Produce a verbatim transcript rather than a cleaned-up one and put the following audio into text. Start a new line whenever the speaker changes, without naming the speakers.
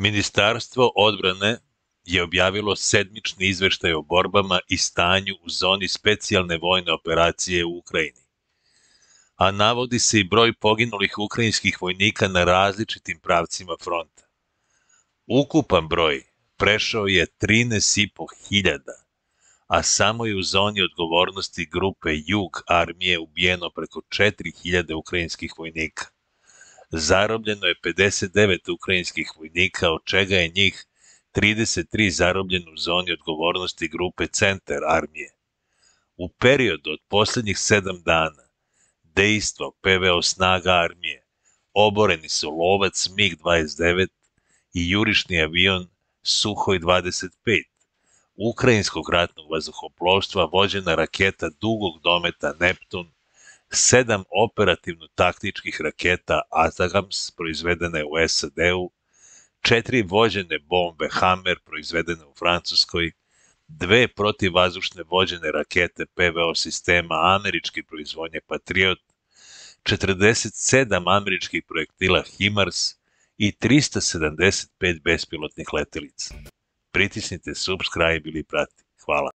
Ministarstvo odbrane je objavilo sedmični izveštaj o borbama i stanju u zoni specijalne vojne operacije u Ukrajini, a navodi se i broj poginulih ukrajinskih vojnika na različitim pravcima fronta. Ukupan broj prešao je trinaest i po hiljada, a samo je u zoni odgovornosti grupe Jug armije ubijeno preko četiri hiljade ukrajinskih vojnika. Zarobljeno je pedeset devet ukrajinskih vojnika, od čega je njih trideset tri zarobljeno u zoni odgovornosti grupe Centar armije. U periodu od poslednjih sedam dana dejstva P V O snaga armije oboreni su lovac MiG dvadeset devet i jurišni avion Suhoj dvadeset pet, ukrajinskog ratnog vazduhoplovstva vođena raketa dugog dometa Neptun, sedam operativno-taktičkih raketa Atacms proizvedene u S A D-u, četiri vođene bombe Hammer proizvedene u Francuskoj, dve protivvazdušne vođene rakete P V O sistema američke proizvodnje Patriot, četrdeset sedam američkih projektila HIMARS i trista sedamdeset pet bespilotnih letelica. Pritisnite subscribe ili prati. Hvala.